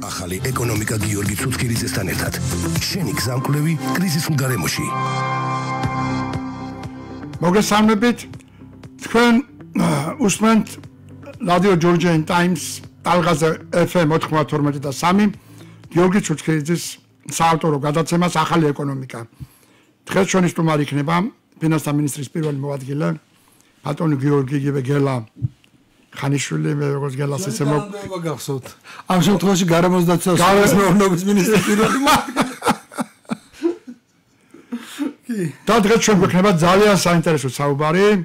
ახალი ეკონომიკა გიორგი ცუცქირიძესთან ერთად. შენი გზამკვლევი კრიზისულ გარემოში. მოგესალმებით. თქვენ უსმენთ რადიო ჯორჯიან ტაიმს ტალღაზე FM 92.3 გიორგი ცუცქირიძის საავტორო გადაცემას ახალი ეკონომიკა. დღეს ჩვენი სტუმარი იქნება ფინანსთა მინისტრის პირველი მოადგილე ბატონი გიორგი გეგელა ხანიშვილი მე როგორც გელას ესე მოგახსოვთ. ამ შემთხვევაში გარემოსდაცვას მეურნეობის მინისტრის პირველი და დღეს ჩვენ გვექნება ძალიან საინტერესო საუბარი,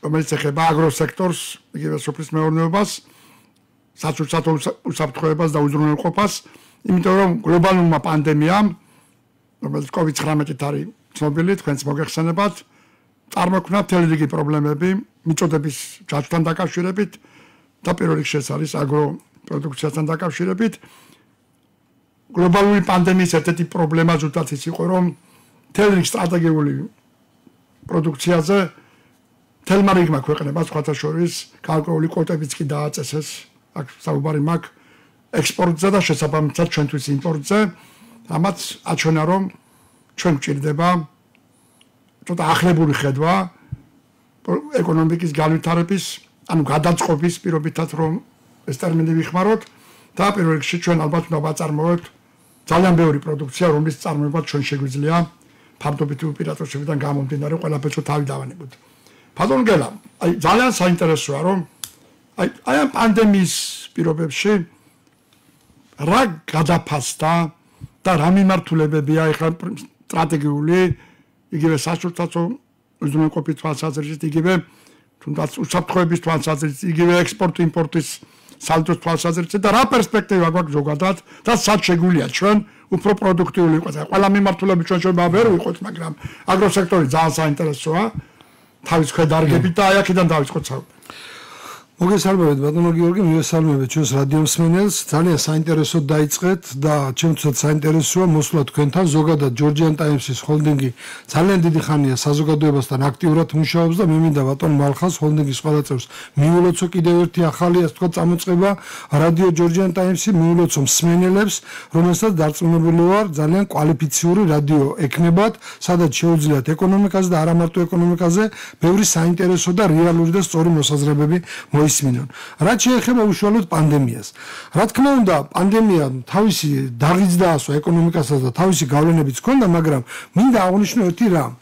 რომელიც ეხება აგროსექტორს, იგივე სოფლის მეურნეობას, საწურთო უსაფრთხოებას და უზრუნველყოფას, იმიტომ რომ გლობალურმა პანდემიამ, რომელიც COVID-19 არის ცნობილი, თქვენც მოგეხსენებათ, წარმოქმნა მთელი რიგი პრობლემები მიწოდების ჯაჭვთან დაკავშირებით და პირველ რიგში ეს არის აგროპროდუქციასთან დაკავშირებით. გლობალური პანდემიის ერთ-ერთი პრობლემა ზუსტად ის იყო, რომ მთელი რიგი სტრატეგიული პროდუქციაზე თელმა რიგმა ქვეყნებას, სხვათა შორის გარკვეული კვოტებიც კი დააწესეს, აქ საუბარი მაქვს ექსპორტზე და შესაბამისად ჩვენთვის იმპორტზე, რამაც აჩვენა, რომ ჩვენ გვჭირდება ცოტაახლებული ხედვა ეკონომიკის განვითარების, ანუ გადაწყობის პირობითად რომ ეს ტერმინი ვიხმაროთ და პირველ რიგში ჩვენ ალბათ უნდა ვაწარმოოთ ძალიან ბევრი პროდუქცია, რომლის წარმოება ჩვენ შეგვიძლია ფარდობითი უპირატესობებიდან გამომდინარე ყველაფერს თავი დავანებოთ. ბატონ გელა, ძალიან საინტერესოა რომ აი ამ პანდემიის პირობებში რა გადაფასდა და რა მიმართულებებია ეხლა სტრატეგიული იგივე საწურთო უზრუნველყოფის თვალსაზრისით, იგივე თუნდაც უსაფრთხოების თვალსაზრისით, იგივე ექსპორტ-იმპორტის სალდოს თვალსაზრისით და რა პერსპექტივა გვაქვს ზოგადად და სად შეგვიძლია ჩვენ უფრო პროდუქტიული ვიყოთ. ყველა მიმართულებით ჩვენ შეიძლება ვერ ვიყოთ, მაგრამ აგროსექტორი ძალიან საინტერესოა თავის ქვედარგებით და აი აქედან დავიწყოთ საუბარი. მოგესალმებით ბატონო გიორგი, მოგესალმებით ჩვენს რადიო მსმენელს. ძალიან საინტერესოდ დაიწყეთ და ჩემთვისაც საინტერესოა მოსვლა თქვენთან. ზოგადად ჯორჯიან ტაიმსის ჰოლდინგი ძალიან დიდი ხანია საზოგადოებასთან აქტიურად მუშაობს და მე მინდა ბატონ მალხას ჰოლდინგის ყველა წევრს მიულოცო კიდევ ერთი ახალი ასე თქვა წამოწყება რადიო ჯორჯიან ტაიმსი მიულოცო მსმენელებს, რომელსაც დარწმუნებული ვარ ძალიან კვალიფიციური რადიო ექნებათ, სადაც შეუძლიათ ეკონომიკაზე და არა მარტო ეკონომიკაზე ბევრი საინტერესო და რეალური და სწორი მოსაზრებები ისმინონ. რაც შეეხება უშუალოდ პანდემიას. რა თქმა უნდა, პანდემია თავისი დაღიც დაასვა ეკონომიკასაც და თავისი გავლენებიც ჰქონდა, მაგრამ მინდა აღვნიშნო ერთი რამ.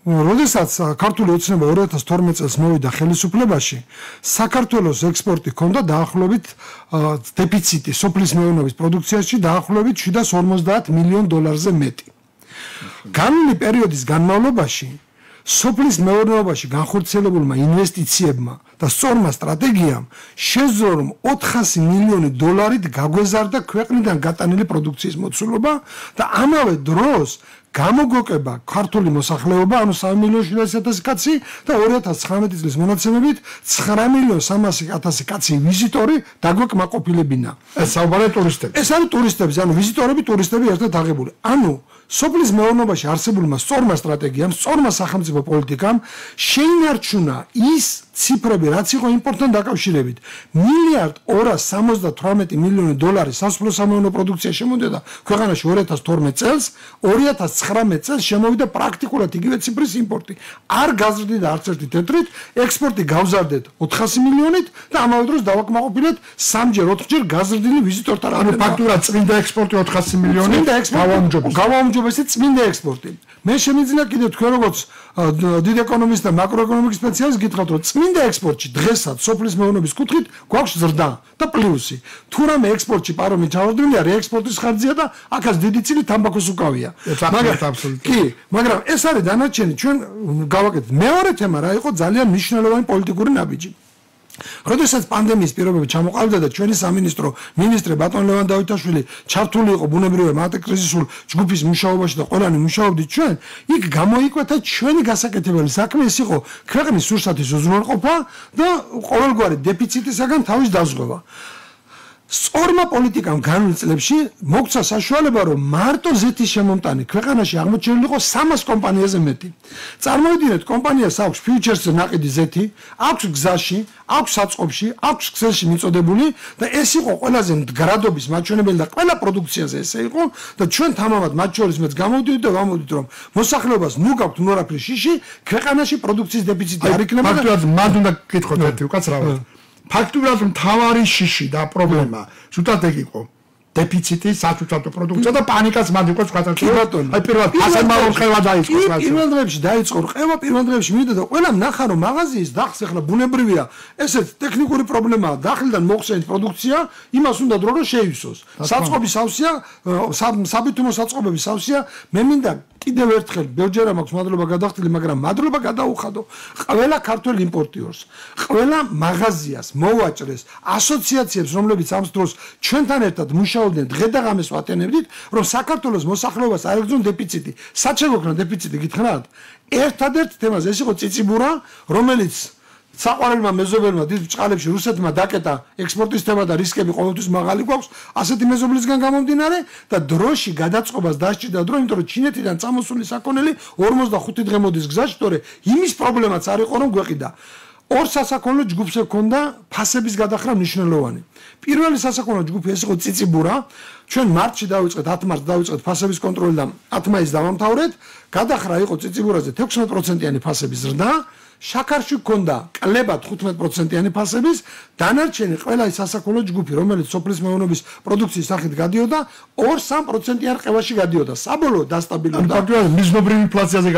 როდესაც ქართული ოცნება 2012 წელს მოვიდა ხელისუფლებაში, საქართველოს ექსპორტი ჰქონდა დაახლოებით დეფიციტი სოფლის მეურნეობის პროდუქციაში დაახლოებით 750 მილიონ დოლარზე მეტი. განვლილი პერიოდის განმავლობაში სოფლის მეურნეობაში განხორციელებულმა ინვესტიციებმა და სწორმა სტრატეგიამ შეძლო რომ 400 მილიონი დოლარით გაგვეზარდა ქვეყნიდან გატანილი პროდუქციის მოცულობა და ამავე დროს გამოგოკება ქართული მოსახლეობა, ანუ 3.700.000 კაცი და 2019 წლის მონაცემებით 9.300.000 კაცი ვიზიტორი დაგვეკმაყოფილებინა. ეს საუბარია ტურისტები. ეს არის ტურისტები, ანუ ვიზიტორები, ტურისტები ერთად აღებული. ანუ სოფლის მეურნეობაში არსებულმა სწორმა სტრატეგიამ, სწორმა სახელმწიფო პოლიტიკამ შეინარჩუნა ის ციფრები, რაც იყო იმპორტთან დაკავშირებით. 1.278 მილიონი დოლარი სასოფლო სამეურნეო პროდუქცია შემოვიდა ქვეყანაში 2012 წელს, 2019 წელს შემოვიდა პრაქტიკულად იგივე ციფრის იმპორტი. არ გაზრდიდა არც ერთი თეთრით, ექსპორტი გავზარდეთ 400 მილიონით და ამავე დროს დავაკმაყოფილეთ 3-ჯერ 4-ჯერ გაზრდილი ვიზიტორთა ანუ ფაქტურად წმინდა ექსპორტი 400 მილიონი გავაუმჯობესეთ წმინდა ექსპორტი. მე შემიძლია კიდევ თქვენ როგორც დიდ ეკონომისტ და მაკროეკონომიკის სპეციალისტ გითხრათ, რომ წმინდა ექსპორტში დღესაც სოფლის მეურნეობის კუთხით გვაქვს ზრდა და პლუსი. თუ რამე ექსპორტში პარომი ჩავარდნილია, რეექსპორტის ხარჯია და აქაც დიდი წილი თამბაქოს უკავია. მაგრამ ეს არის დანარჩენი, ჩვენ გავაკეთეთ. მეორე თემა რა იყო ძალიან მნიშვნელოვანი პოლიტიკური ნაბიჯი. როდესაც პანდემიის პირობები ჩამოყალიბდა და ჩვენი სამინისტრო მინისტრი ბატონ ლევან დავითაშვილი ჩართული იყო ბუნებრივი ანტიკრიზისულ ჯგუფის მუშაობაში და ყველანი მუშაობდით ჩვენ, იქ გამოიკვეთა ჩვენი გასაკეთებელი საქმე, ეს იყო ქვეყნის სურსათის უზრუნველყოფა და ყოველგვარი დეფიციტისაგან თავის დაზღვევა. სწორმა პოლიტიკამ განვლილ წლებში მოგცა საშუალება, რომ მარტო ზეთის შემომტანი ქვეყანაში აღმოჩენილი იყო 300 კომპანიაზე მეტი. წარმოვიდგინეთ, კომპანიას აქვს ფიუჩერსზე ნაყიდი ზეთი, აქვს გზაში, აქვს საწყობში, აქვს ქსელში მიწოდებული და ეს იყო ყველაზე მდგრადობის მაჩვენებელი და ყველა პროდუქციაზე ესე იყო და ჩვენ თამამად მათ შორის მეც გამოვდივით და ვამოვდით, რომ მოსახლეობას ნუ გაქვთ ნორაფრი შიში, ქვეყანაში პროდუქციის დეფიციტი არ იქნება და ფაქტობრივად მანდ უნდა გკითხოთ ერთი უკაცრავად. ფაქტობრივად მთავარი შიში და პრობლემა ზუსტად ეგ იყო. დეფიციტი, საწუწავო პროდუქცია და პანიკაც მანდ იყო სხვათა შორის. აი პირველად ფასადმარო რყევა დაიწყო სხვა. პირველ დღეებში დაიწყო რყევა, პირველ დღეებში მივიდა და ყველა ნახა რომ მაღაზიის დახს ახლა ბუნებრივია, ესეც ტექნიკური პრობლემაა, დახლიდან მოხსენით პროდუქცია, იმას უნდა დრო რომ შეივსოს. საწყობი სავსეა, საბითუმო საწყობები სავსეა, მე მინდა კიდევ ერთხელ ბევრჯერ მაქვს მადლობა გადახდილი, მაგრამ მადლობა გადაუხადო ყველა ქართველ იმპორტიორს, ყველა მაღაზიას, მოვაჭრეს, ასოციაციებს, რომლებიც ამ დროს ჩვენთან ერთად მუშაობდნენ, დღე და ღამეს ვატენებდით, რომ საქართველოს მოსახლეობას არ ეგზონ დეფიციტი. სად შეგვექნა დეფიციტი გითხრათ? ერთადერთ თემაზე ეს იყო წიწიბურა, რომელიც საყვარელმა მეზობელმა დიდ ბჭყალებში რუსეთმა დაკეტა ექსპორტის თემა და რისკები ყოველთვის მაღალი გვაქვს ასეთი მეზობლისგან გამომდინარე და დროში გადაწყობას დასჭირდა დრო, იმიტომ რომ ჩინეთიდან წამოსული საქონელი 45 დღე მოდის გზაში, თორე იმის პრობლემაც არ იყო რომ გვეყიდა. ორ სასაქონლო ჯგუფს ჰქონდა ფასების გადახრა მნიშვნელოვანი. პირველი სასაქონლო ჯგუფი ეს იყო წიწიბურა. ჩვენ მარტში დავიწყეთ, 10 მარტს დავიწყეთ ფასების კონტროლი და 10 მაისს დავამთავრეთ. გადახრა იყო წიწიბურაზე 16%-იანი ფასების ზრდა. შაქარში ჰქონდა კლებად 15%-იანი ფასების, დანარჩენი ყველა ის სასაქონლო ჯგუფი, რომელიც სოფლის მეურნეობის პროდუქციის სახით გადიოდა, 2-3%-იან რყევაში გადიოდა. საბოლოოდ დასტაბილურდა. მიზნობრივ ინფლაციაზე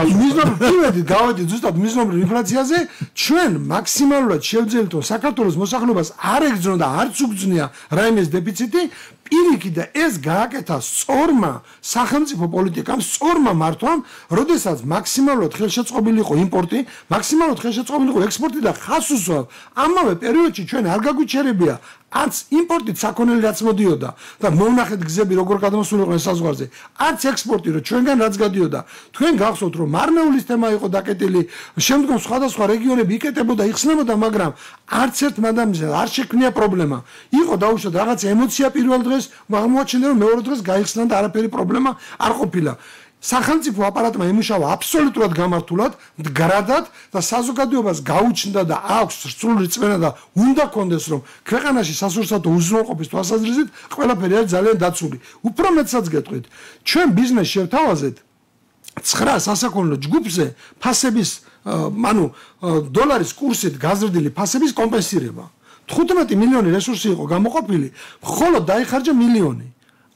გავედით ზუსტად მიზნობრივ ინფლაციაზე, ჩვენ მაქსიმალურად შევძელით, რომ საქართველოს მოსახლეობას არ ეგზნო და არც უგზნია რაიმეს დეფიციტი, პირიქით და ეს გააკეთა სწორმა სახელმწიფო პოლიტიკამ, სწორმა მართვამ, როდესაც მაქსიმალურად ხელშეწყობილი იყო იმპორტი, მაქსიმალურად ხელშეწყობილი იყო ექსპორტი და ხას უსვამ. ამავე პერიოდში ჩვენ არ გაგვიჩერებია არც იმპორტით საქონელი რაც მოდიოდა და მოვნახეთ გზები როგორ გადმოსულიყვნენ საზღვარზე, არც ექსპორტი რომ ჩვენგან რაც გადიოდა. თქვენ გახსოვთ რომ მარნეულის თემა იყო დაკეტილი, შემდგომ სხვადასხვა რეგიონები იკეტებოდა, იხსნებოდა, მაგრამ არც ერთ მადამზე არ შექმნია პრობლემა. იყო დაუშვათ რაღაცა ემოცია პირველ დღეს, აღმოაჩინე რომ მეორე დღეს გაიხსნა და არაფერი პრობლემა არ ყოფილა. სახელმწიფო აპარატმა იმუშავა აბსოლუტურად გამართულად, მდგრადად და საზოგადოებას გაუჩნდა და აქვს სრული წმენა და უნდა კონდეს რომ ქვეყანაში სასურსათო უზრუნველყოფის თვალსაზრისით ყველაფერი არის ძალიან დაცული. უფრო მეტსაც გეტყვით, ჩვენ ბიზნესს შევთავაზეთ 9 სასაქონლო ჯგუფზე ფასების, დოლარის კურსით გაზრდილი ფასების კომპენსირება. 15 მილიონი რესურსი იყო გამოყოფილი, მხოლოდ დაიხარჯა მილიონი.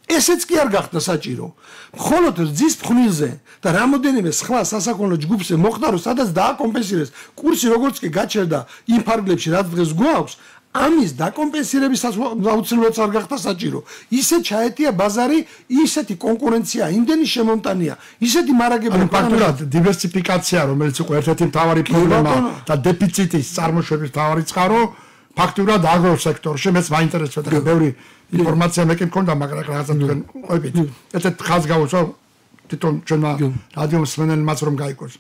ესეც კი არ გახდა საჭირო. მხოლოდ რძის ფხვნილზე და რამოდენიმე სხვა სასაქონლო ჯგუფზე მოხდა, რომ სადაც დააკომპენსირეს კურსი, როგორც კი გაჩერდა იმ ფარგლებში, რაც დღეს გვაქვს, ამის დაკომპენსირების აუცილებლად არ გახდა საჭირო. ისე ჩაეტია ბაზარი, ისეთი კონკურენცია, იმდენი შემომტანია, ისეთი მარაგები. ფაქტურად დივერსიფიკაცია, რომელიც იყო ერთ-ერთი მთავარი პრობლემა და დეფიციტის წარმოშობის მთავარი წყარო, ფაქტურად აგროსექტორში მეც მაინტერესებდა და ბევრი ინფორმაცია მე კი მქონდა, მაგრამ რაღაცა თქვენ ყვებით. ერთ ხალხს გავუსვა თვითონ ჩვენმა რადიო მსმენელმაც რომ გაიგოს.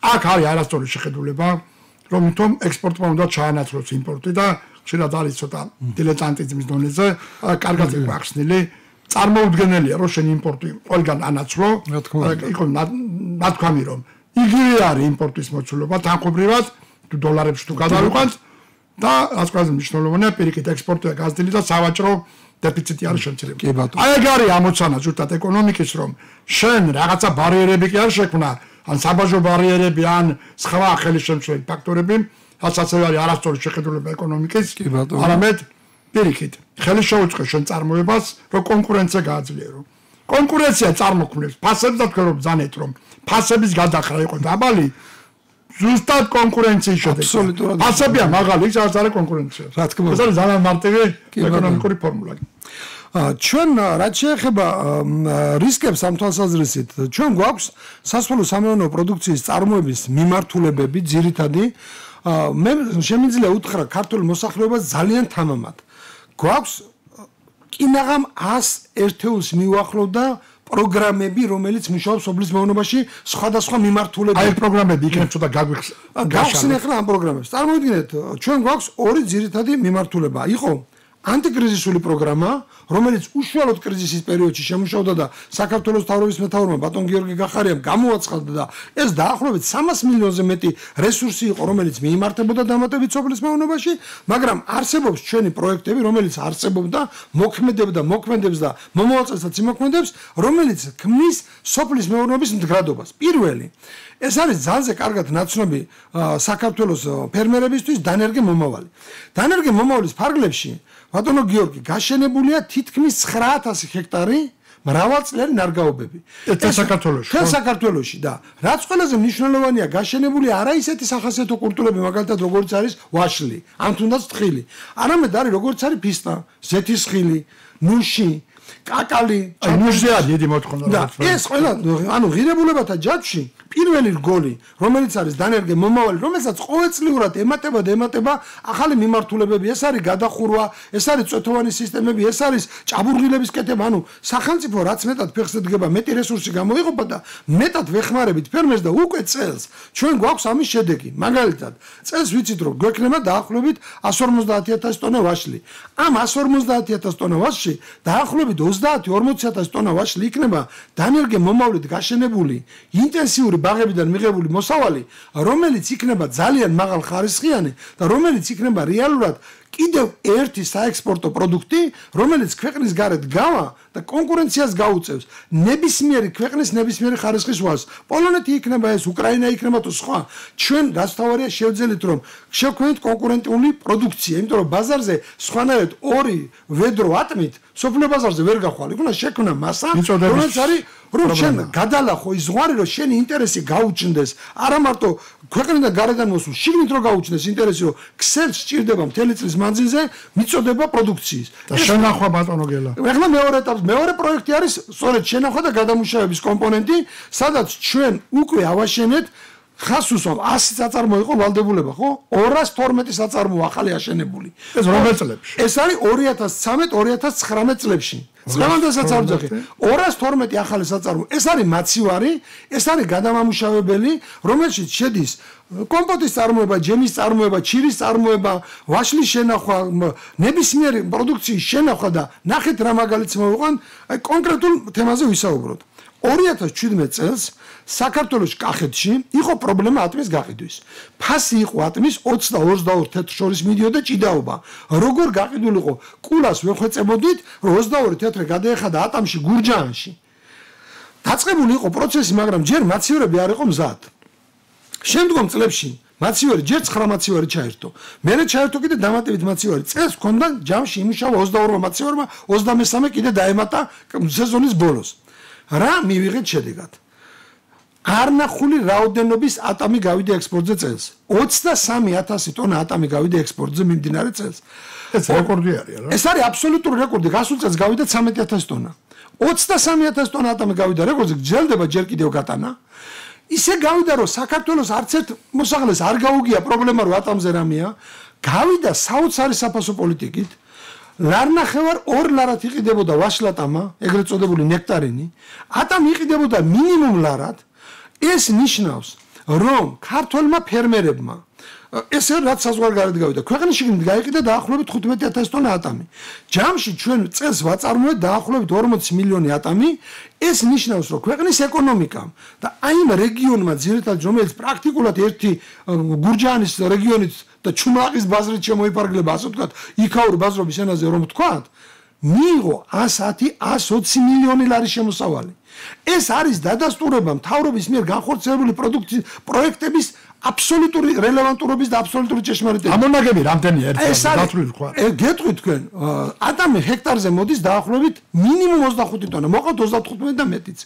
აქ არის არასწორი შეხედულება, რომ თვითონ ექსპორტმა უნდა ჩაანაცვლოს იმპორტი და შეიძლება არის ცოტა დილეტანტიზმის დონეზე, კარგად იყო ახსნილი. წარმოუდგენელია, რომ შენ იმპორტი ყველგან ანაცვლო, იყო ნათქვამი რომ იგივე არის იმპორტის მოცულობა თანხმობრივად, თუ დოლარებში თუ გადავიყვანთ და რაც ყველაზე მნიშვნელოვანია, პირიქით ექსპორტია გაზრდილი და სავაჭრო დეფიციტი არის შემცირებული. აი ეგ არის ამოცანა ზუსტად ეკონომიკის, რომ შენ რაღაცა ბარიერები კი არ შექმნა, ან საბაჟო ბარიერები, ან სხვა ხელისშემცვლელი ფაქტორები, რაც ასევე არის არასწორი შეხედულება ეკონომიკის, არამედ პირიქით ხელი შეუწყო შენ წარმოებას, რომ კონკურენცია გააძლიერო. კონკურენცია წარმოქმნებს ფასებს და თქვენ რომ ბრძანეთ, რომ ფასების გადახრა იყო დაბალი, ზუსტად კონკურენციის შედეგი. ფასებია მაღალი, ის არის კონკურენცია. რა თქმა უნდა, ეს არის ძალიან მარტივი ეკონომიკური ფორმულა. ჩვენ რაც შეეხება რისკებს ამ თვალსაზრისით, ჩვენ გვაქვს სასოფლო სამეურნეო პროდუქციის წარმოების მიმართულებები ძირითადი. მე შემიძლია უთხრა ქართულ მოსახლეობას ძალიან თამამად. გვაქვს კინაღამ 100 ერთეულს მიუახლოვდა პროგრამები, რომელიც მუშაობს სოფლის მეურნეობაში სხვადასხვა მიმართულებით. აი პროგრამები იქნებ ცოტა გავხსნე ახლა ამ პროგრამებს. წარმოვიდგინეთ, ჩვენ გვაქვს ორი ძირითადი მიმართულება. იყო ანტიკრიზისული პროგრამა, რომელიც უშუალოდ კრიზისის პერიოდში შემუშავდა და საქართველოს მთავრობის მეთაურმა ბატონ გიორგი გახარიამ გამოაცხადა და ეს დაახლოებით 300 მილიონზე მეტი რესურსი იყო, რომელიც მიიმართებოდა დამატებით სოფლის მეურნეობაში, მაგრამ არსებობს ჩვენი პროექტები, რომელიც არსებობდა, მოქმედებს და მომავალ წელსაც იმოქმედებს, რომელიც ქმნის სოფლის მეურნეობის მდგრადობას. პირველი ეს არის ძალზე კარგად ნაცნობი საქართველოს ფერმერებისთვის დანერგე მომავალი. დანერგე მომავლის ფარგლებში ბატონო გიორგი გაშენებულია თითქმის 9000 ჰექტარი მრავალწლიანი ნარგაობები. საქართველოში და რაც ყველაზე მნიშვნელოვანია გაშენებული არა ისეთი სახასიათო კულტურები, მაგალითად როგორც არის ვაშლი, ან თუნდაც თხილი. არამედ არის როგორც არის ფისტა, ზეთისხილი, ნუში, კაკალი, ნუშზეა დიდი მოთხოვნა. და ეს ყველა ღირებულებათა ჯაჭვში პირველი რგოლი, რომელიც არის დანერგე მომავალი, რომელსაც ყოველწლიურად ემატება ახალი მიმართულებები, ეს არის გადახურვა, ეს არის წვეთოვანი სისტემები, ეს არის ჭაბურღილების კეთება, სახელმწიფო რაც მეტად ფეხს ედგება, მეტი რესურსი გამოიყოფა და მეტად ვეხმარებით ფერმერს და უკვე წელს ჩვენ გვაქვს ამის შედეგი. მაგალითად, წელს ვიცით რომ გვექნება დაახლოებით 150.000 ტონა ვაშლი. ამ 150.000 ტონა ვაშლში დაახლოებით 30-40.000 ტონა ვაშლი იქნება დანერგე მომავლით გაშენებული ინტენსიური ბაღებიდან მიღებული მოსავალი, რომელიც იქნება ძალიან მაღალ ხარისხიანი და რომელიც იქნება რეალურად კიდევ ერთი საექსპორტო პროდუქტი, რომელიც ქვეყნის გარეთ გავა და კონკურენციას გაუწევს ნებისმიერი ქვეყნის ნებისმიერი ხარისხის ვას. პოლონეთი იქნება ეს, უკრაინა იქნება თუ სხვა. ჩვენ გასთავარია შევძელით რომ შევქმნით კონკურენტული პროდუქცია, იმიტომ რომ ბაზარზე სხვანაირად ორი ვედრო ატმით სოფლიო ბაზარზე ვერ გახვალ. იქ უნდა შექმნა მასა, რომელიც არის რომ შენ გადალახო ის ზღვარი, რომ შენი ინტერესი გაუჩნდეს, არა მარტო ქვეყნიდან გარედან მოსულ, შიგნით რომ გაუჩნდეს ინტერესი, რომ ქსელს სჭირდება მთელი წლის მანძილზე მიწოდება პროდუქციის. და შენახვა ბატონო გელა. ეხლა მეორე ეტაპი, მეორე პროექტი არის სწორედ შენახვა და გადამუშავების კომპონენტი, სადაც ჩვენ უკვე ავაშენეთ ხას უსვამ 100 საწარმო იყო ვალდებულება, ხო? 212 საწარმო ახალი აშენებული. ეს რომელ წლებში? ეს არის 2013-2019 წლებში. წლევანდელსაც არ ვძახი. 212 ახალი საწარმო. ეს არის მაცივარი, ეს არის გადამამუშავებელი, რომელშიც შედის კომპოტის წარმოება, ჯემის წარმოება, ჩირის წარმოება, ვაშლის შენახვა, ნებისმიერი პროდუქციის შენახვა და ნახეთ რა მაგალითს მოვიყვან, აი კონკრეტულ თემაზე ვისაუბროთ. 2017 წელს საქართველოს კახეთში იყო პრობლემა ატმის გაყიდვის. ფასი იყო ატმის 22 თეთრ შორის მიდიოდა ჭიდაობა. როგორ გაყიდულიყო? კულას ვეხვეწებოდით, რომ 22 თეთრე გადაეხადა ატამში გურჯაანში. დაწყებული იყო პროცესი, მაგრამ ჯერ მაცივერები არ იყო მზად. შემდგომ წლებში მაცივერი ჯერ 9 მაცივერი ჩაერთო. მერე ჩაერთო კიდე დამატებით მაცივერი. წელს ჰქონდა ჯამში იმუშავა 22 მაცივერმა, 23 კიდე დაემატა სეზონის ბოლოს. რა მივიღეთ შედეგად? არნახული რაოდენობის ატამი გავიდა ექსპორტზე წელს. 23,000 ტონა ატამი გავიდა ექსპორტზე მიმდინარე წელს. ეს რეკორდი არის რა. ეს არის აბსოლუტური რეკორდი. გასულ წელს გავიდა 13,000 ტონა. 23,000 ტონა ატამი გავიდა რეკორდზე, გრძელდება ჯერ კიდევ გატანა. ისე გავიდა რომ საქართველოს არც ერთ მოსახლეს არ გაუგია პრობლემა რომ ატამზე რამეა. გავიდა საოცარი საფასო პოლიტიკით. ლარნახევარ 2 ლარად იყიდებოდა ვაშლატამა, ეგრეთ წოდებული ნექტარინი. ატამი იყიდებოდა მინიმუმ ლარად. ეს ნიშნავს, რომ ქართველმა ფერმერებმა ესე რაც საზღვარგარეთ გავიდა, ქვეყნის შიგნით გაიყიდა დაახლოებით 15,000 ტონა ატამი. ჯამში ჩვენ წელს ვაწარმოებთ დაახლოებით 40 მილიონი ატამი. ეს ნიშნავს, რომ ქვეყნის ეკონომიკამ და აი იმ რეგიონმა ძირითადად რომელიც პრაქტიკულად ერთი გურჯაანის რეგიონით და ჩუმაყის ბაზრით შემოიფარგლება, ასე ვთქვათ, იქაური ბაზრობის ენაზე რომ ვთქვათ, მიიღო 110-120 მილიონი ლარის შემოსავალი. ეს არის დადასტურება მთავრობის მიერ განხორციელებული პროექტების აბსოლუტური რელევანტურობის და აბსოლუტური ჭეშმარიტების. ამონაგები რამდენია ერთად დათვლილი თქვა? გეტყვით თქვენ, ატამი ჰექტარზე მოდის დაახლოებით მინიმუმ 25 ტონა, მოყავთ 35 და მეტიც.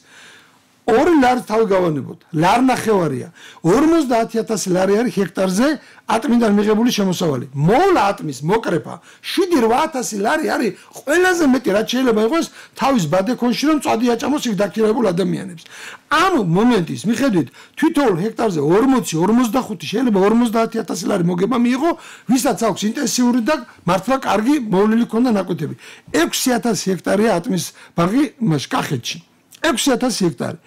2 ლარი თავი გავანებოთ. ლარნახევარია. 50,000 ლარი არის ჰექტარზე ატმიდან მიღებული შემოსავალი. მოვლა ატმის მოკრეფა 7-8,000 ლარი არის ყველაზე მეტი რაც შეიძლება იყოს თავის ბადეკონში რომ წვადი აჭამოს იქ დაქირავებულ ადამიანებს. ამ მომენტის მიხედვით თვითონ ჰექტარზე 40-45 შეიძლება 50,000 ლარი მოგება მიიღო, ვისაც აქვს ინტენსიური და მართლა კარგი მოვლილი ქონდა ნაკვეთები. 6,000 ჰექტარია ატმის ბაღი კახეთში. 6,000 ჰექტარი.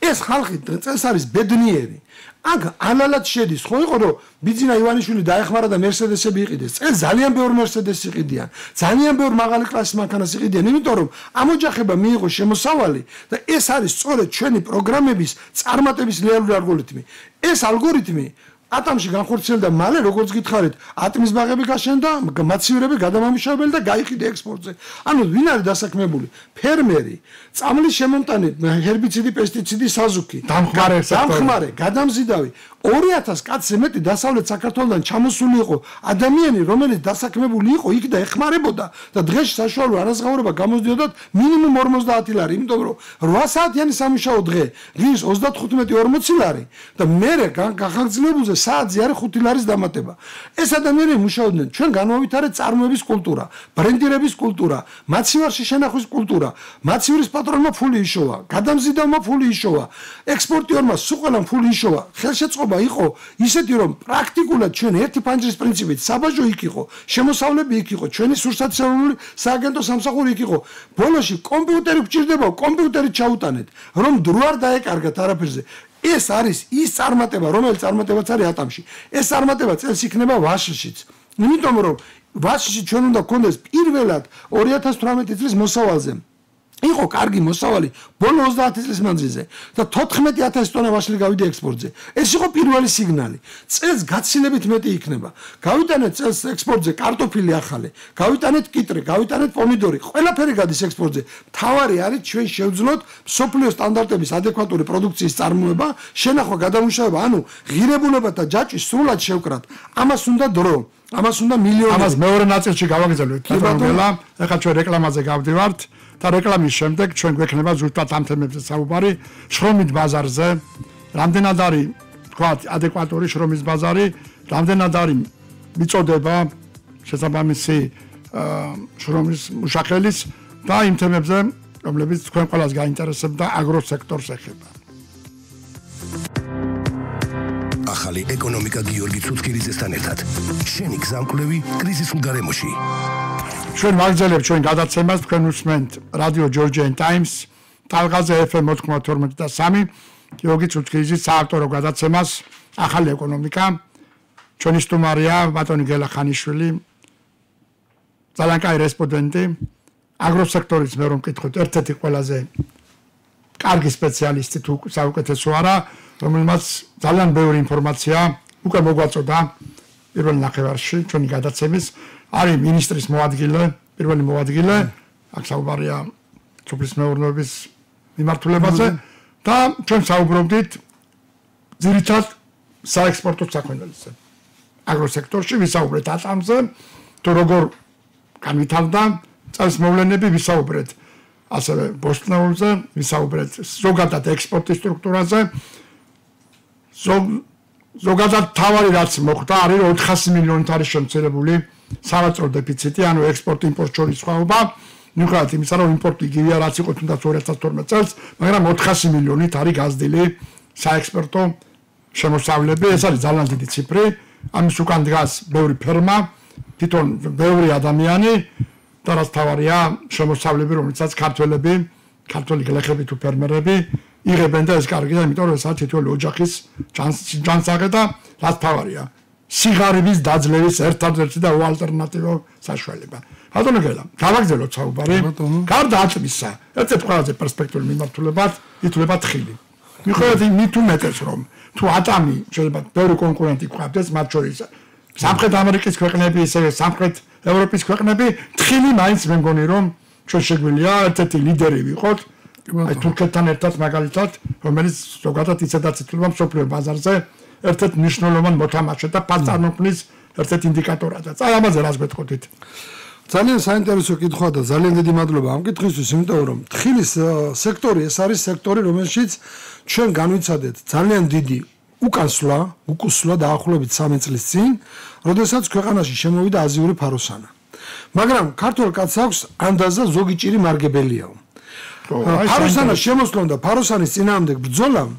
ეს ხალხი წელს არის ბედნიერი. აქ ანალად შედის, ხო იყო რომ ბიძინა ივანიშვილი დაეხმარა და მერსედესები იყიდეს. წელს ძალიან ბევრი მერსედესი იყიდიან. ძალიან ბევრი მაღალი კლასის მანქანას იყიდიან, იმიტომ რომ ამ ოჯახებმა მიიღო შემოსავალი და ეს არის სწორედ ჩვენი პროგრამების წარმატების რეალური ალგორითმი. ეს ალგორითმი ატომში განხორციელდა მალე, როგორც გითხარით, ატმის ბაღები გაშენდა, მაცივრები გადამამუშავებელი და გაიყიდა ექსპორტზე. ანუ ვინ არის დასაქმებული? ფერმერი, წამლის შემომტანი, ჰერბიციდი, პესტიციდი, საზუქი, დამხმარე, გადამზიდავი. 2000 კაცზე მეტი დასავლეთ საქართველოსთან ჩამოსული იყო ადამიანი, რომელიც დასაქმებული იყო იქ და ეხმარებოდა და დღეში საშუალო არაზღაურება გამოძიოდათ მინიმუმ 50 ლარი, იმიტომ რომ 8 საათიანი სამუშაო დღე, ღირს 35-40 ლარი და მერე გახარჯლებულზე საათზე არის 5 ლარის დამატება. ეს ადამიანები მუშაობდნენ, ჩვენ განვავითარეთ წარმოების კულტურა, ბრენდირების კულტურა, მაცივარში შენახვის კულტურა, მაცივრის პატრონმა ფული იშოვა, გადამზიდავმა ფული იშოვა, ექსპორტიორმა სუყელამ ფული იშოვა, ხელშეწყობა იყო ისეთი რომ პრაქტიკულად ჩვენ ერთი პანჯრის პრინციპით საბაჟო იქ იყო, შემოსავლები იქ იყო, ჩვენი სურსათისეული სააგენტო სამსახური იქ იყო. ბოლოში კომპიუტერი გჭირდება, კომპიუტერით ჩაუტანეთ, რომ დრო არ დაეკარგათ არაფერზე. ეს არის ის წარმატება, რომელიც წარმატებაც არის ატამში. ეს წარმატება წელს იქნება ვაშშიც. იმიტომ რომ ვაშში ჩვენ უნდა გქონდეს პირველად 2018 წლის მოსავალზე იყო კარგი მოსავალი ბოლო 30 წლის მანძილზე და 14000 ტონა ვაშლი გავიდა ექსპორტზე. ეს იყო პირველი სიგნალი. წელს გაცილებით მეტი იქნება. გავიტანეთ წელს ექსპორტზე კარტოფილი ახალი, გავიტანეთ კიტრი, გავიტანეთ პომიდორი, ყველაფერი გადის ექსპორტზე. მთავარი არის ჩვენ შევძლოთ მსოფლიო სტანდარტების ადეკვატური პროდუქციის წარმოება, შენახვა, გადამუშავება, ანუ ღირებულება და ჯაჭვი სრულად შევკრათ. ამას უნდა დრო, ამას უნდა მილიონი. ამას მეორე ნაწილში გავაგრძელებთ. ეხლა ჩვენ რეკლამაზე გავდივართ. და რეკლამის შემდეგ ჩვენ გვექნება ზუსტად ამ თემებზე საუბარი შრომით ბაზარზე, რამდენად არის თქვათ ადეკვატური შრომის ბაზარი, რამდენად არის მიწოდება შესაბამისი შრომის მუშახელის და იმ თემებზე, რომლებიც თქვენ ყველას გაინტერესებდა აგროსექტორს ეხება. ახალი ეკონომიკა გიორგი ცუცქირიძესთან ერთად. შენი გზამკვლევი კრიზისულ გარემოში. ჩვენ ვაგრძელებთ ჩვენ გადაცემას, თქვენ უსმენთ რადიო Georgian Times, ტალღაზე FM 92.3, გიორგი ცუცქირიძის საავტორო გადაცემას, ახალი ეკონომიკა. ჩვენი სტუმარია ბატონი გელა ხანიშვილი, ძალიან კაი რესპონდენტი, აგროსექტორის მე რომ მკითხოთ, ერთ-ერთი ყველაზე კარგი სპეციალისტი თუ საუკეთესო არა, რომელმაც ძალიან ბევრი ინფორმაცია უკვე მოგვაწოდა პირველ ნახევარში ჩვენი გადაცემის. არის მინისტრის მოადგილე, პირველი მოადგილე, აქ საუბარია სოფლის მეურნეობის მიმართულებაზე და ჩვენ საუბრობდით ძირითადად საექსპორტო საქმეებზე. აგროსექტორში ვისაუბრეთ ატამზე, თუ როგორ განვითარდა წელს მოვლენები, ვისაუბრეთ ასევე ბოსტნეულზე, ვისაუბრეთ ზოგადად ექსპორტის სტრუქტურაზე. ზოგადად თავარი რაც მოხდა არის 400 მილიონით არის შემცირებული სავაჭრო დეფიციტი, ანუ ექსპორტ-იმპორტ შორის სხვაობა. მიუხედავად იმისა, რომ იმპორტი იგივეა, რაც იყო თუნდაც 2012 წელს, მაგრამ 400 მილიონით არის გაზრდილი საექსპორტო შემოსავლები. ეს არის ძალიან დიდი ციფრი. ამის უკან დგას ბევრი ფერმა, თვითონ ბევრი ადამიანი და რაც თავარია შემოსავლები, რომელიცაც ქართველი გლეხები თუ ფერმერები იღებენ და ეს კარგია, იმიტომ რომ ესაა თითოეული ოჯახის ჯანსაღე და რაც თავარია სიღარიბის დაძლევის ერთადერთი და უალტერნატივო საშუალება. ბატონო გელა, გავაგრძელოთ საუბარი. გარდა ატმისა, ერთ-ერთი ყველაზე პერსპექტიული მიმართულებად ითვლება თხილი. მიუხედავად იმით უმეტეს, რომ თუ ატამი შეიძლება ბევრი კონკურენტი გვყავდეს, მათ შორის სამხრეთ ამერიკის ქვეყნები, ისე სამხრეთ ევროპის ქვეყნები, თხილი მაინც მე მგონი რომ ჩვენ შეგვიძლია ერთ-ერთი ლიდერი ვიყოთ. აი თურქეთთან ერთად მაგალითად, რომელიც ზოგადად ისედაც ითვლება მსოფლიო ბაზარზე ერთ-ერთ მნიშვნელოვან მოთამაშედ და პასტარნოქნის ერთ-ერთ ინდიკატორად. ამაზე რას გეტყოდით? ძალიან საინტერესო კითხვა და ძალიან დიდი მადლობა ამ კითხვისთვის, იმიტომ რომ თხილის სექტორი ეს არის სექტორი, რომელშიც ჩვენ განვიცადეთ ძალიან დიდი უკუსვლა დაახლოებით 3 წლის წინ, როდესაც ქვეყანაში შემოვიდა აზიური ფაროსანა. მაგრამ ქართულ კაცს აქვს ანდაზა ზოგი ჭირი მარგებელიაო. ფაროსანა შემოსვლამ და ფაროსანის წინააღმდეგ ბრძოლამ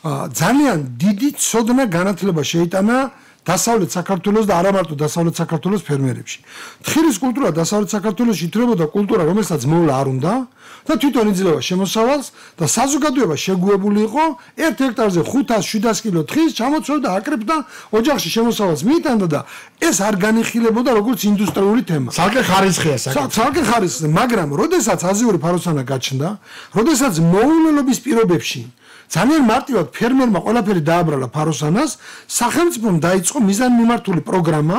ძალიან დიდი ცოდნა განათლება შეიტანა დასავლეთ საქართველოს და არა მარტო დასავლეთ საქართველოს ფერმერებში. თხილის კულტურა დასავლეთ საქართველოში ითვლებოდა კულტურა, რომელსაც მოვლა არ უნდა და თვითონ იძლევა შემოსავალს და საზოგადოება შეგუებული იყო 1 ჰექტარზე 500-700 კილო თხილს ჩამოცვევდა, აკრებდა, ოჯახში შემოსავალს მიიტანდა და ეს არ განიხილებოდა როგორც ინდუსტრიული თემა. ცალკე ხარისხია საკითხი. ცალკე ხარისხზე, მაგრამ როდესაც აზიური ფაროსანა გაჩნდა, როდესაც მოულელობის პირობებში ძალიან მარტივად ფერმერმა ყველაფერი დააბრალა ფაროსანას, სახელმწიფომ დაიწყო მიზანმიმართული პროგრამა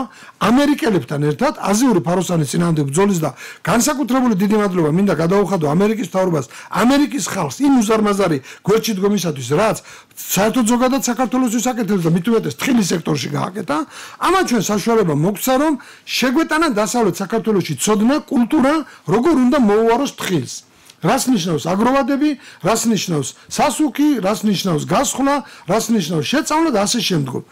ამერიკელებთან ერთად აზიური ფაროსანის წინააღმდეგ ბრძოლის და განსაკუთრებული დიდი მადლობა მინდა გადაუხადო ამერიკის მთავრობას, ამერიკის ხალხს იმ უზარმაზარი გვერდში დგომისათვის, რაც საერთოდ ზოგადად საქართველოსთვის აკეთებს და მით უმეტეს თხილის სექტორში გააკეთა. ამან ჩვენ საშუალება მოგცა, რომ შეგვეტანა დასავლეთ საქართველოში ცოდნა, კულტურა, როგორ უნდა მოუაროს თხილს. რას ნიშნავს აგროვადები, რას ნიშნავს სასუქი, რას ნიშნავს გასხლა, რას ნიშნავს შეწავლა და ასე შემდგომ.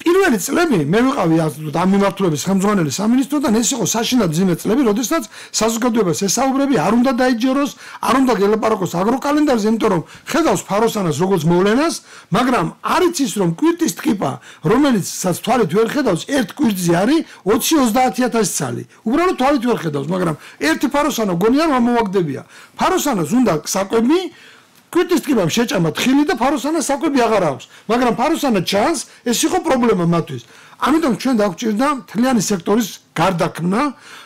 პირველი წლები მე ვიყავი ამ მიმართულების ხელმძღვანელი სამინისტროდან, ეს იყო საშინად ძიმე წლები, როდესაც საზოგადოებას ესაუბრები, არ უნდა დაიჯეროს, არ უნდა გელაპარაკოს აგროკალენდარზე, იმიტომ რომ ხედავს ფაროსანას როგორც მოვლენას, მაგრამ არ იცის რომ კვირტის ტკიპა, რომელიც თვალით ვერ ხედავს, ერთ კვირტზე არის 20-30 ცალი. უბრალოდ თვალით ვერ ხედავს, მაგრამ ერთი ფაროსანა გონია რომ ამოვაგდებია. ფაროსანას უნდა საკვები კვირტის ტკიპამ შეჭამა თხილი და ფაროსანას საკვები აღარ აქვს, მაგრამ ფაროსანა ჩანს, ეს იყო პრობლემა მათთვის. ამიტომ ჩვენ დაგვჭირდა მთლიანი სექტორის გარდაქმნა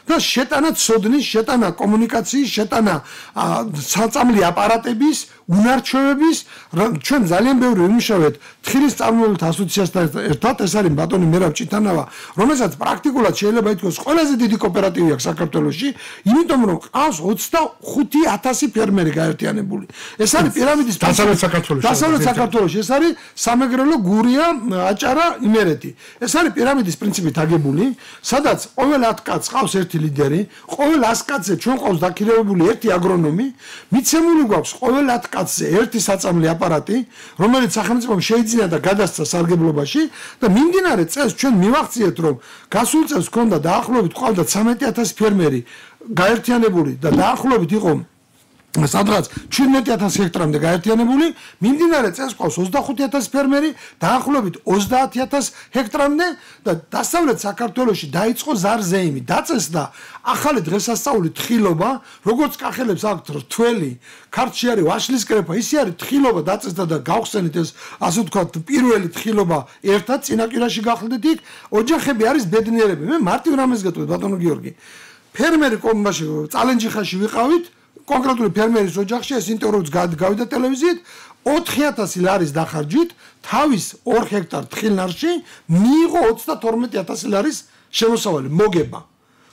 და შეტანა ცოდნის, შეტანა კომუნიკაციის, შეტანა საწამლი აპარატების, უნარჩვევების, ჩვენ ძალიან ბევრი ვიმუშავეთ თხილის წარმოებულთა ასოციაციასთან ერთად, ეს არის ბატონი მერაბ ჭიტანავა, რომელსაც პრაქტიკულად შეიძლება ითქვას ყველაზე დიდი კოოპერატივი აქვს საქართველოში, იმიტომ რომ ყავს 25,000 ფერმერი გაერთიანებული. ეს არის პირამიდის დასავლეთ საქართველოში. დასავლეთ საქართველოში ეს არის სამეგრელო, გურია, აჭარა, იმერეთი. ეს არის პირამიდის პრინციპით აგებული, სადაც ყოველ 10 კაცს ყავს ერთი ლიდერი, ყოველ 100 კაცზე ჩვენ ყავს დაქირავებული ერთი აგრონომი, მიცემული გვაქვს ყოველ 10 კაცზე ერთი საწამლი აპარატი, რომელიც სახელმწიფომ შეიძინა და გადასცა სარგებლობაში და მიმდინარე წელს ჩვენ მივახციეთ, რომ გასულ წელს ჰქონდა დაახლოებით ყავდა 13,000 ფერმერი გაერთიანებული და დაახლოებით იყო სადღაც 17,000 ჰექტრამდე გაერთიანებული, მიმდინარე წელს ყავს 25,000 ფერმერი, დაახლოებით 30,000 ჰექტრამდე და დასავლეთ საქართველოში დაიწყო ზარზეიმი, დაწესდა ახალი დღესასწაული თხილობა, როგორც კახელებს აქვთ რთველი, ქართლში არის ვაშლის კრეფა, ისე არის თხილობა დაწესდა და გავხსენით ეს ასე ვთქვათ პირველი თხილობა ერთად წინაპირაში გახლდით იქ, ოჯახები არის ბედნიერები. მე მარტივ რამეს გეტყვით ბატონო გიორგი. ფერმერი კომბაში წალენჯიხაში ვიყავით, კონკრეტული ფერმერის ოჯახში ეს ინტერვიუც გავიდა ტელევიზიით, 4,000 ლარის დახარჯით თავის 2 ჰექტარ თხილნარში მიიღო 32,000 ლარის შემოსავალი მოგება.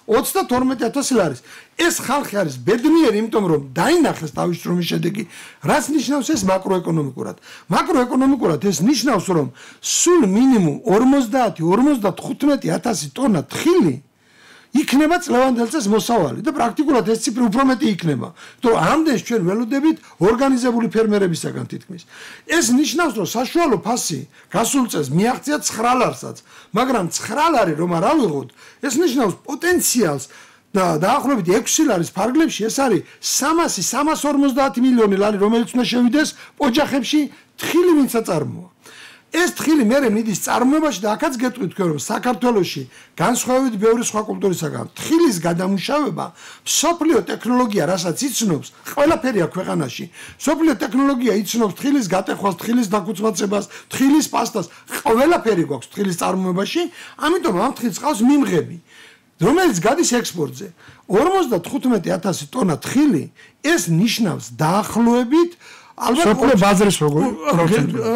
32,000 ლარის. ეს ხალხი არის ბედნიერი, იმიტომ რომ დაინახეს თავის შრომის შედეგი. რაც ნიშნავს ეს მაკროეკონომიკურად? მაკროეკონომიკურად ეს ნიშნავს, რომ სულ მინიმუმ 50-55,000 ტონა თხილი იქნება წლევანდელ წელს მოსავალი და პრაქტიკულად ეს ციფრი უფრო მეტი იქნება. იმიტომ რომ ამდენს ჩვენ ველოდებით ორგანიზებული ფერმერებისაგან თითქმის. ეს ნიშნავს, რომ საშუალო ფასი გასულ წელს მიაღწია 9 ლარსაც, მაგრამ 9 ლარი რომ არ ავიღოთ, ეს ნიშნავს პოტენციალს და დაახლოებით 6 ლარის ფარგლებში ეს არის 350 მილიონი ლარი, რომელიც უნდა შევიდეს ოჯახებში თხილი ვინც აწარმოა. ეს თხილი მერე მიდის წარმოებაში და აქაც გეტყვით თქვენ რომ საქართველოში განსხვავებით ბევრი სხვა კულტურისაგან თხილის გადამუშავება მსოფლიო ტექნოლოგია რასაც იცნობს ყველაფერია ქვეყანაში მსოფლიო ტექნოლოგია იცნობს თხილის გატეხვას, თხილის დაკუცმაცებას, თხილის პასტას, ყველაფერი გვაქვს თხილის წარმოებაში, ამიტომ ამ თხილს ყავს მიმღები, რომელიც გადის ექსპორტზე. 55,000 ტონა თხილი ეს ნიშნავს დაახლოებით სოფლიო ბაზრის როგორი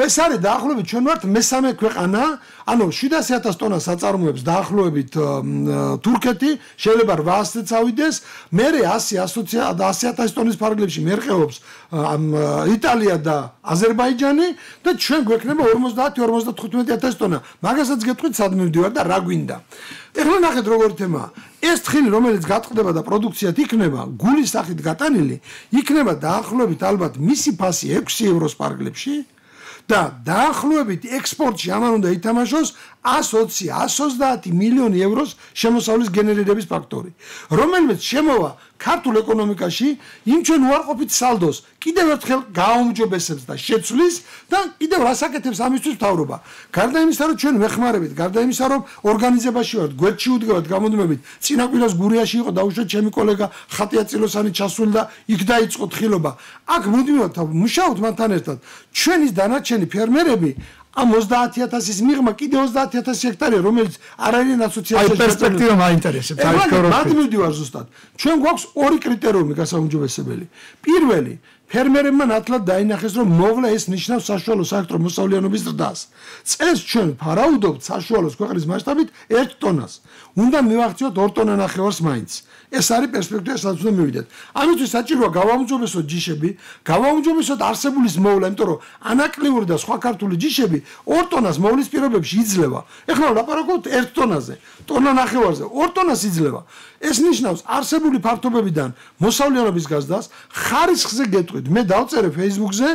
ეს არის დაახლოებით ჩვენ ვართ მესამე ქვეყანა, ანუ 700,000 ტონას აწარმოებს დაახლოებით თურქეთი, შეიძლება 800-ზე წავიდეს, მერე 100,000 ტონის ფარგლებში მერყეობს იტალია და აზერბაიჯანი და ჩვენ გვექნება 50-55,000 ტონა. მაგასაც გეტყვით სად მივდივარ და რა გვინდა. ეხლა ნახეთ როგორი თემაა. ეს თხილი რომელიც გაწყდება და პროდუქციად იქნება, გულის სახით გატანილი, იქნება დაახლოებით ალბათ მისი ფასი 6 ევროს ფარგლებში და დაახლოებით ექსპორტში ამან უნდა ითამაშოს 120-130 მილიონი ევროს შემოსავლის გენერირების ფაქტორი, რომელიც შემოვა ქართულ ეკონომიკაში იმ ჩვენ უარყოფით სალდოს კიდევ ერთხელ გააუმჯობესებს და შეცვლის და კიდევ რას აკეთებს ამისთვის მთავრობა. გარდა იმისა, რომ ჩვენ ვეხმარებით, გარდა იმისა, რომ ორგანიზებაში ვართ, გვერდში ვდგავართ გამოდმებით, წინა კვირას გურიაში იყო დაუშვათ ჩემი კოლეგა ხატია წილოსანი ჩასული და იქ დაიწყო თხილობა. აქ მუდმივად მუშაობთ მათთან ერთად. ჩვენი დანარჩენი ფერმერები ამ 30000-ის მიღმა კიდე 30000 ჰექტარია, რომელიც არ არის ასოციაციაში. აი პერსპექტივა მაინტერესებს. აი მოვიდივარ ზუსტად. ჩვენ გვაქვს ორი კრიტერიუმი გასაუმჯობესებელი. პირველი, ფერმერებმა ნათლად დაინახეს, რომ მოვლა ეს ნიშნავს საშუალო საექტრო მოსავლიანობის ზრდას. წელს ჩვენ ფარაუდობთ საშუალოს ქვეყნის მასშტაბით 1 ტონას. უნდა მივახციოთ 2 ტონა ნახევარს მაინც. ეს არის პერსპექტივა, სადაც უნდა მივიდეთ. ამისთვის საჭიროა გავაუმჯობესოთ ჯიშები, გავაუმჯობესოთ არსებულის მოვლა, იმიტომ რომ ანაკლიური და სხვა ქართული ჯიშები 2 ტონას მოვლის პირობებში იძლევა. ეხლა ვლაპარაკობთ 1 ტონაზე, ტონა ნახევარზე, 2 ტონას იძლევა. ეს ნიშნავს არსებული ფართობებიდან მოსავლიანობის გაზრდას, ხარისხზე გეტყვით. მე დავწერე Facebook-ზე,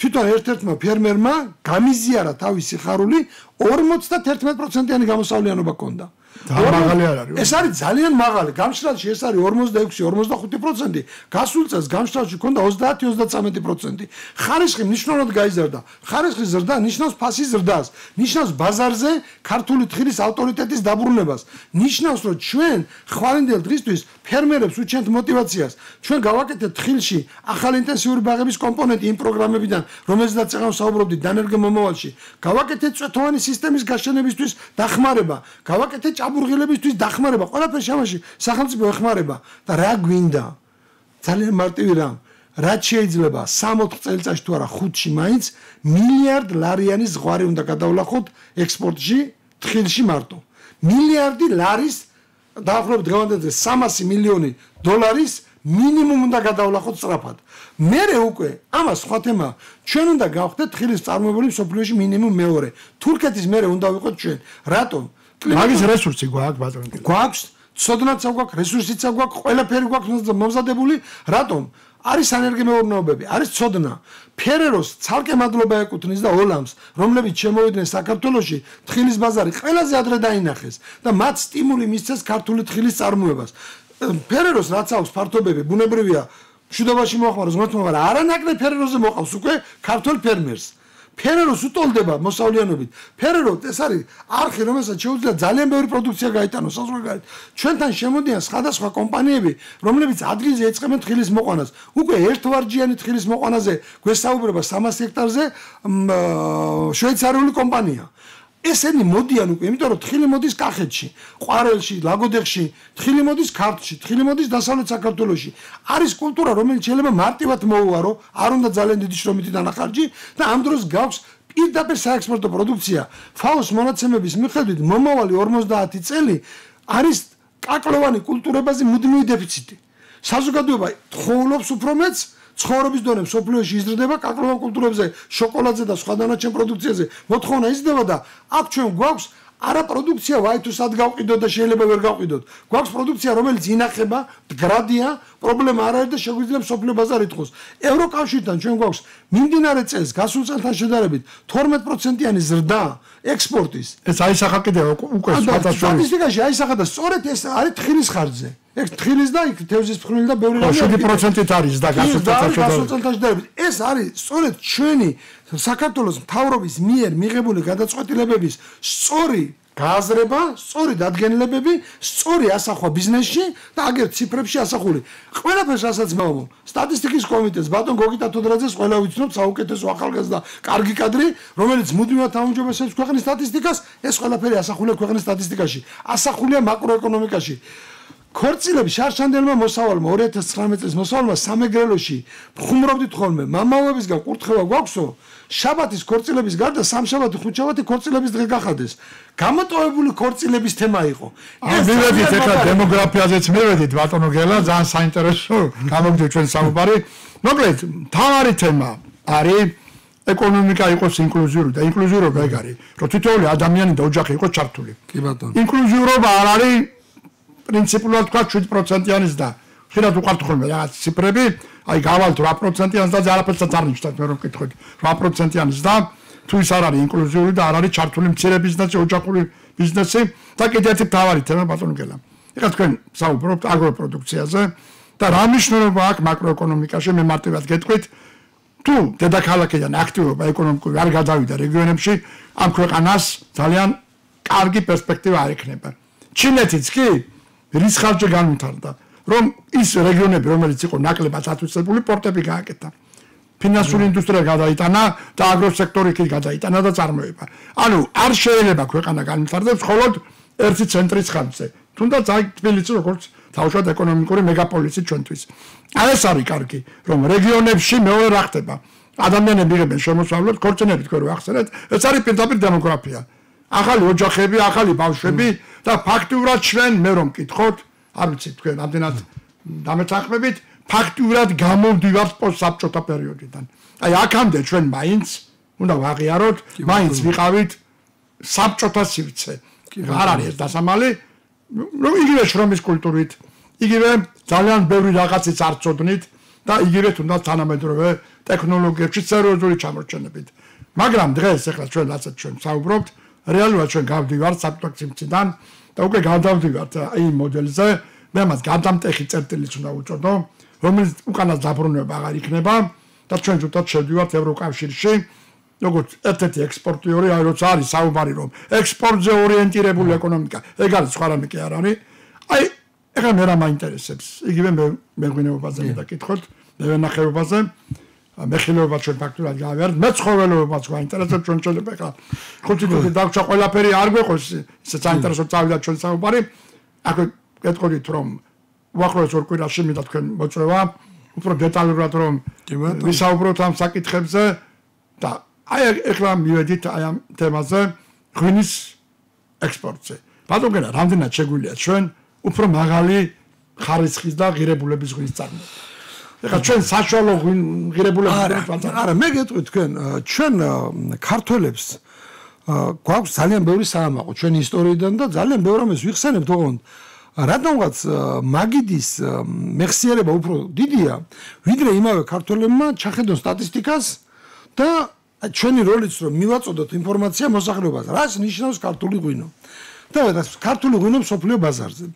თვითონ ერთ-ერთმა ფერმერმა გამიზიარა თავისი ხარული 51%-იანი გამოსავლიანობა ჰქონდა. მაღალი არ არის. ეს არის ძალიან მაღალი. გამშრალში ეს არის 46-45%. გასულ წელს გამშრალში ჰქონდა 30-33%. ხარისხი მნიშვნელოვნად გაიზარდა. ხარისხის ზრდა ნიშნავს ფასის ზრდას, ნიშნავს ბაზარზე ქართული თხილის ავტორიტეტის დაბრუნებას. ნიშნავს, რომ ჩვენ ხვალინდელ დღისთვის ფერმერებს უჩენთ мотиваციას. ჩვენ გავაკეთეთ თხილში ახალი ინტენსიური ბაღების კომპონენტი იმ პროგრამებიდან, რომელზეც წეგნავ საუბრობდით დანერგე მომავალში. გავაკეთეთ წვეთოვანი სისტემის გაშენებისთვის დახმარება. გავაკეთეთ ჭაბურღილებისთვის დახმარება. ყველაფერი შემაში სახელმწიფო ეხმარება და რა გვინდა? ძალიან მარტივი რამ. რაც შეიძლება 3-4 წელიწადში თუ არა 5-ში მაინც მილიარდ ლარიანი ზღვარი უნდა გადავლახოთ ექსპორტში, თხილში მარტო. მილიარდი ლარის დაახლოებით დღევანდელზე 300 მილიონი დოლარის მინიმუმ უნდა გადავლახოთ სწრაფად. მერე უკვე ამას სხვა თემა. ჩვენ უნდა გავხდეთ თხილის წარმოებული მსოფლიოში მინიმუმ მეორე. თურქეთის მერე უნდა ვიყოთ ჩვენ. რატომ? მაგის რესურსი გვაქვს ბატონო. გვაქვს, ცოდნაც აგვაქვს, რესურსიც აგვაქვს, ყველაფერი გვაქვს მომზადებული. რატომ? არის სანერგემეურნეობები, არის ცოდნა. ფერეროს ცალკე მადლობა ეკუთვნის და ოლამს, რომლებიც შემოვიდნენ საქართველოში, თხილის ბაზარი ყველაზე ადრე დაინახეს და მათ სტიმული მისცეს ქართული თხილის წარმოებას. ფერეროს რაც აქვს ფართობები, ბუნებრივია, მშვიდობაში მოახმაროს, მაგრამ არანაკლებ ფერეროზე მოყავს უკვე ქართულ ფერმერს. ფერეროს უტოლდება მოსავლიანობით. ფერერო ეს არის არხი, რომელსაც შეუძლია ძალიან ბევრი პროდუქცია გაიტანოს საზღვარგარეთ. ჩვენთან შემოდიან სხვადასხვა კომპანიები, რომლებიც ადგილზე ეწყებენ თხილის მოყვანას. უკვე ერთვარჯიანი თხილის მოყვანაზე გვესაუბრება 300 ჰექტარზე შვეიცარიული კომპანია. ესენი მოდიან უკვე, იმიტომ რომ თხილი მოდის კახეთში, ყვარელში, ლაგოდეხში, თხილი მოდის ქართლში, თხილი მოდის დასავლეთ საქართველოში. არის კულტურა, რომელიც შეიძლება მარტივად მოუარო, არ უნდა ძალიან დიდი შრომითი დანახარჯი და ამ დროს გაქვს პირდაპირ საექსპორტო პროდუქცია. FAO-ს მონაცემების მიხედვით მომავალი 50 წელი არის კაკლოვანი კულტურებაზე მუდმივი დეფიციტი. საზოგადოება თხოვლობს უფრო მეც ცხოვრების დონე მსოფლიოში იზრდება კაკლოვან კულტურებზე, შოკოლადზე და სხვა დანარჩენ პროდუქციაზე. მოთხოვნა იზრდება და აქ ჩვენ გვაქვს არა პროდუქცია ვაი თუ სად გავყიდოთ და შეიძლება ვერ გავყიდოთ. გვაქვს პროდუქცია, რომელიც ინახება, მდგრადია, პრობლემა არ არის და შეგვიძლია მსოფლიო ბაზარი თხოს. ევროკავშირთან ჩვენ გვაქვს მიმდინარე წელს გასულ წელთან შედარებით 12%-იანი ზრდა ექსპორტის. ეს აისახა კიდევ უკვე სტატისტიკაში აისახა და სწორედ ეს არის თხილის ხარჯზე. ეს თხილის და იქ თევზის ფხვნილი და ბევრი რამე 7%-ით არის და გასულ წელთან შედარებით. ეს არის სწორედ ჩვენი საქართველოს მთავრობის მიერ მიღებული გადაწყვეტილებების სწორი გააზრება, სწორი დადგენილებები, სწორი ასახვა ბიზნესში და აგერ ციფრებში ასახული. ყველაფერს რასაც მოვამო, სტატისტიკის კომიტეტს ბატონ გოგიტა თოდრაძეს ყველა ვიცნობ, საუკეთესო ახალგაზრდა, კარგი კადრი, რომელიც მუდმივად აუმჯობესებს ქვეყნის სტატისტიკას, ეს ყველაფერი ასახულია ქვეყნის სტატისტიკაში, ასახულია მაკროეკონომიკაში. ქორწილების შარშანდელმა მოსავალმა 2019 წლის მოსავალმა სამეგრელოში ხუმრობდით ხოლმე მამაობებისგან კურთხევა გვაქვსო შაბათის ქორწილების გარდა სამშაბათი ხუთშაბათი ქორწილების დღე გახადეს გამოტოვებული ქორწილების თემა იყო ეს მივედით ეხლა დემოგრაფიაზეც მივედით ბატონო გელა ძალიან საინტერესო გამოგდი ჩვენ საუბარი მოკლედ თავარი თემა არის ეკონომიკა იყოს ინკლუზიური და ინკლუზიურობა ეგ არის რომ თითოეული ადამიანი და ოჯახი იყოს ჩართული კი ბატონო ინკლუზიურობა არ არის პრინციპულად თქვა 7%-იანის და ხშირად უყართ ხოლმე რაღაც ციფრები, აი გავალთ 8%-იანს და არაფერსაც არ ნიშნავთ მე რომ მკითხოთ 8%-იანის და თუ ის არ არის ინკლუზიური და არ არის ჩართული მცირე ბიზნესი, ოჯახური ბიზნესი და კიდევ ერთი მთავარი თემა ბატონო გელა. ეხლა თქვენ საუბრობთ აგროპროდუქციაზე და რა მნიშვნელობა აქვს მაკროეკონომიკაში მე მარტივად გეტყვით თუ დედაქალაქიდან აქტივობა ეკონომიკური არ გადავიდა რეგიონებში ამ ქვეყანას ძალიან კარგი პერსპექტივა არ ექნება ჩინეთიც კი რის ხარჯზე განვითარდა რომ ის რეგიონები რომელიც იყო ნაკლებად ათვისებული პორტები გააკეთა ფინანსური ინდუსტრია გადაიტანა და აგროსექტორი კი გადაიტანა და წარმოება ანუ არ შეიძლება ქვეყანა განვითარდეს მხოლოდ ერთი ცენტრის ხარჯზე თუნდაც აი თბილისი როგორც თავშოთ ეკონომიკური მეგაპოლისი ჩვენთვის აი ეს არის კარგი რომ რეგიონებში მეორე რა ხდება ადამიანები იღებენ შემოსავლებს ქორწინებით თქვენ რო ახსენეთ ეს არის პირდაპირ დემოგრაფია ახალი ოჯახები ახალი ბავშვები და ფაქტიურად ჩვენ მე რომ მკითხოთ არ ვიცი თქვენ ამდენად დამეთანხმებით ფაქტიურად გამოვდივართ პოსტსაბჭოთა პერიოდიდან აი აქამდე ჩვენ მაინც უნდა ვაღიაროთ მაინც ვიყავით საბჭოთა სივრცე არ არის დასამალი რომ იგივე შრომის კულტურით იგივე ძალიან ბევრი რაღაცის არ წოდნით და იგივე თუნდაც თანამედროვე ტექნოლოგიებში სერიოზული ჩამორჩენებით მაგრამ დღეს ახლა ჩვენ ასეთ ჩვენ საუბრობთ რეალურად ჩვენ გავდივართ საბჭოთა სივრციდან და უკვე გადავდივართ აი მოდელზე მე მას გადამტეხი წერტილიც უნდა უწოდო რომელიც უკანას დაბრუნება აღარ იქნება და ჩვენ ზუსტად შევდივართ ევროკავშირში როგორც ერთ-ერთი ექსპორტიორი აი როცა არის საუბარი რომ ექსპორტზე ორიენტირებული ეკონომიკა ეგ არის სხვა რამე კი არ არის აი ეხლა მე რა მაინტერესებს იგივე მეღვინეობაზე მეკითხოთ მევენახეობაზე მეხილეობა ჩვენ ფაქტურად გავიარეთ მეცხოველეობაც გვაინტერესებს ჩვენ შეიძლება ეხლა ხუთი თვე დავჭა ყველაფერი არ გვეყოს ისე საინტერესო წავიდა ჩვენ საუბარი აქ გეტყოდით რომ უახლოეს ორ კვირაში მინდა თქვენ მოწვევა უფრო დეტალურად რომ ვისაუბროთ ამ საკითხებზე და აი ეხლა მივედით აი ამ თემაზე ღვინის ექსპორტზე ბატონგენა რამდენად შეგვიძლია ჩვენ უფრო მაღალი ხარისხის და ღირებულების ღვინის წარმოება ეხლა ჩვენ საშუალო ღირებულების არა მე გეტყვით თქვენ ჩვენ ქართველებს გვაქვს ძალიან ბევრი საამაყო ჩვენი ისტორიიდან და ძალიან ბევრ ამას ვიხსენებთ ოღონდ რადგანაც მაგიდის მეხსიერება უფრო დიდია ვიდრე იმავე ქართველებმა ჩახედონ სტატისტიკას და ჩვენი როლიც რომ მივაწოდოთ ინფორმაცია მოსახლეობას რას ნიშნავს ქართული ღვინო და ქართული ღვინო მსოფლიო ბაზარზე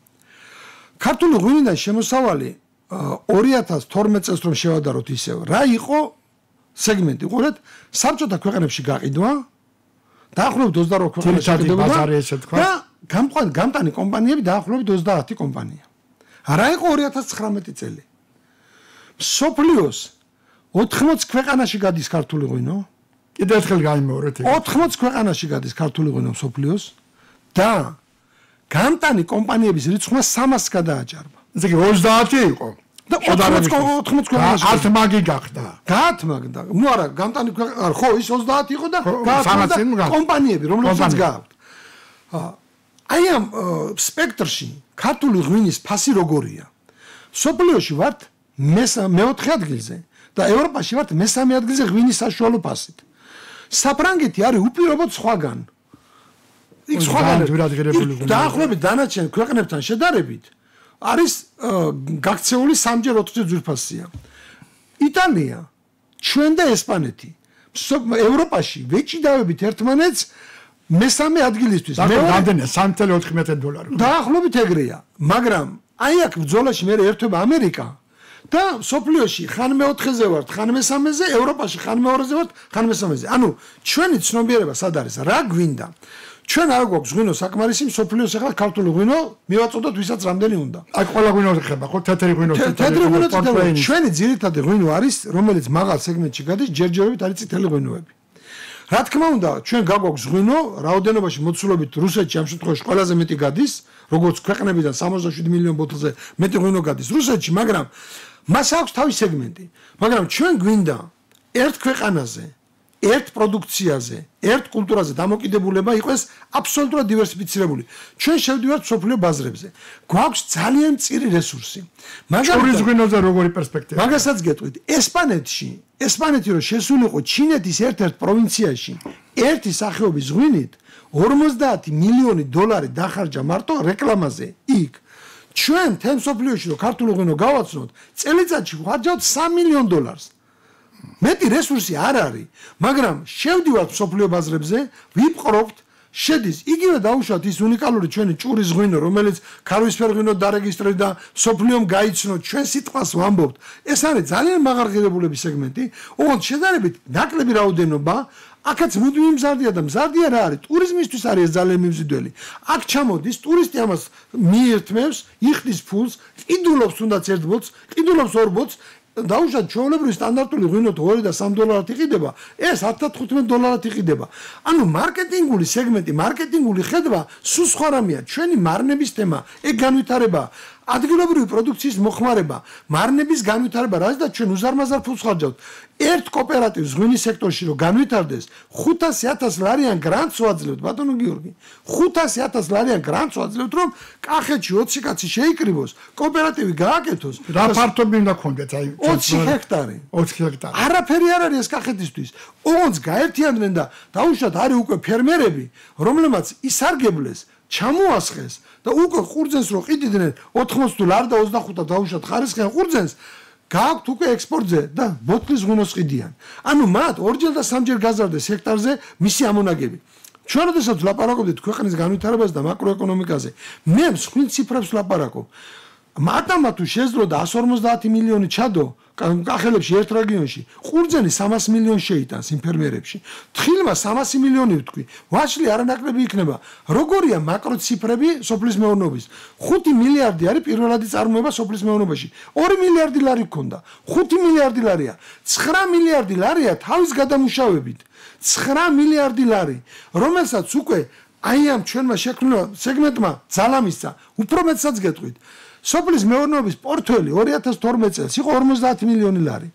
ქართული ღვინიდან შემოსავალი 2012 წელს რომ შევადაროთ ისევ რა იყო სეგმენტი ყურეთ საბჭოთა ქვეყნებში გაყიდვა დაახლოებით 28 ქვეყანაში გაყიდვა და გამტანი კომპანიები დაახლოებით 30 კომპანია რა იყო 2019 წელი მსოფლიოს 80 ქვეყანაში გადის ქართული ღვინო კიდევ ერთხელ გამიმეორეთ 80 ქვეყანაში გადის ქართული ღვინო მსოფლიოს და გამტანი კომპანიების რიცხვმა 300-ს გადააჭარბა ესე იგი 30 იყო და 80 ქვეყანაში ათმაგი გახდა გაათმაგდა ნუ არა გამტანი ხო ის 30 იყო და გაათმაგდა კომპანიები რომლებსაც გააქვთ აი ამ სპექტრში ქართული ღვინის ფასი როგორია სოფლიოში ვართ მეოთხე ადგილზე და ევროპაში ვართ მესამე ადგილზე ღვინის საშუალო ფასით საფრანგეთი არის უპირობოდ სხვაგან იქ სხვაგან დაახლოებით დანარჩენ ქვეყნებთან შედარებით არის გაქცეული 3-ჯერ 4-ჯერ ძვირფასია იტალია ჩვენ და ესპანეთი ევროპაში ვეჭიდავებით ერთმანეთს მესამე ადგილისთვის მე რამდენია $3.4 დაახლოებით ეგრეა მაგრამ აი აქ ბრძოლაში მე ერთობა ამერიკა და სოფლიოში ხან მეოთხეზე ვართ ხან მესამეზე ევროპაში ხან მეორეზე ვართ ხან მესამეზე ანუ ჩვენი ცნობიერება სად არის რა გვინდა ჩვენ არ გვაქვს ღვინო საკმარისი სოფლიოს ახლა ქართული ღვინო მივაწოდოთ ვისაც რამდენი უნდა აი ყველა ღვინო ხება ხო თეთრი ღვინო ჩვენი ძირითადი ღვინო არის რომელიც მაღალ სეგმენტში გადის ჯერჯერობით არის წითელი ღვინოები რა თქმა უნდა ჩვენ გაგვაქვს ღვინო რაოდენობაში მოცულობით რუსეთში ამ შემთხვევაში ყველაზე მეტი გადის როგორც ქვეყნებიდან 67 მილიონი ბოთლზე მეტი ღვინო გადის რუსეთში მაგრამ მას აქვს თავის სეგმენტი მაგრამ ჩვენ გვინდა ერთ ქვეყანაზე ერთ პროდუქციაზე ერთ კულტურაზე დამოკიდებულება იყოს აბსოლუტურად დივერსიფიცირებული ჩვენ შევდივართ სოფლიო ბაზრებზე გვაქვს ძალიან მწირი რესურსი მაგალითად ღვინოზე როგორი პერსპექტივა მაგასაც გეტყვით ესპანეთი რო შესულიყო ჩინეთის ერთ-ერთ პროვინციაში ერთი სახეობის ღვინით $50 მილიონი დახარჯა მარტო რეკლამაზე იქ ჩვენ თემ სოფლიოში რო ქართული ღვინო გავაცნოთ წელიწადში ვხარჯავთ $3 მილიონ მეტი რესურსი არ არის მაგრამ შევდივართ სოფლიო ბაზრებზე ვიპყრობთ შედის იგივე დაუშვათ ის უნიკალური ჩვენი ჭურის ღვინო, რომელიც ქარვისფერ ღვინოდ დარეგისტრირდა, სოფლიომ გაიცნო, ჩვენ სიტყვას ვამბობთ. ეს არის ძალიან მაღალღირებულების სეგმენტი, ოღონდ შედარებით ნაკლები რაოდენობა, აქაც მუდმივი მზარდია და მზარდია რა არის? ტურიზმისთვის არის ძალიან მიმზიდველი. აქ ჩამოდის, ტურისტი ამას მიერთმევს, იხდის ფულს, ყიდულობს თუნდაც ერთ ბოთს, ყიდულობს ორ ბოთს, დაუშვათ ჩვეულებრივი სტანდარტული ღვინო 2 და 3 დოლარად იყიდება, ეს 10-15 დოლარად იყიდება. ანუ მარკეტინგული სეგმენტი, მარკეტინგული ხედვა სულ სხვა რამეა. ჩვენი მარნების თემა, ეგ განვითარება, ადგილობრივი პროდუქციის მოხმარება, მარნების განვითარება, რაც და ჩვენ უზარმაზარ ფულს ხარჯავთ. ერთ კოოპერატივს ღვინის სექტორში რომ განვითარდეს, 500,000 ლარიან გრანტს ვაძლევთ, ბატონო გიორგი. 500,000 ლარიან გრანტს ვაძლევთ, რომ კახეთში 20 კაცი შეიკრიბოს, კოოპერატივი გააკეთოს. რა ფართობი უნდა გქონდეთ, აი 20 ჰექტარი. 20 ჰექტარი. არაფერი არ არის ეს კახეთისთვის. ოღონდ გაერთიანდნენ და დაუშვათ არის უკვე ფერმერები, რომლებმაც ისარგებლეს, ჩამოასხეს და უკვე ყურძენს რო ყიდიდნენ 80 ლარ და 25 დაუშვათ ხარისხიან ყურძენს გააქვთ უკვე ექსპორტზე და ბოთლის ღვინოს ყიდიან. ანუ მათ ორჯერ და სამჯერ გაზარდეს ჰექტარზე მისი ამონაგები. ჩვენ როდესაც ვლაპარაკობთ ქვეყნის განვითარებაზე და მაკროეკონომიკაზე, მე მსხვილ ციფრებს ვლაპარაკობ. მათამა თუ შეძლო და 150 მილიონი ჩადო კახელებში ერთ რეგიონში, ყურძენი 300 მილიონი შეიტანს იმ ფერმერებში. თხილმა 300 მილიონი ვთქვი. ვაშლი არანაკლები იქნება. როგორია მაკროციფრები სოფლის მეურნეობის? 5 მილიარდი არის პირველადი წარმოება სოფლის მეურნეობაში. 2 მილიარდი ლარი გქონდა. 5 მილიარდი ლარია. 9 მილიარდი ლარია თავის გადამუშავებით. 9 მილიარდი ლარი, რომელსაც უკვე აი ამ ჩვენმა შექმნილ სეგმენტმა ძალა მისცა. უფრო მეტსაც გეტყვით. სოფლის მეურნეობის პორტფელი 2012 წელს იყო 50 მილიონი ლარი.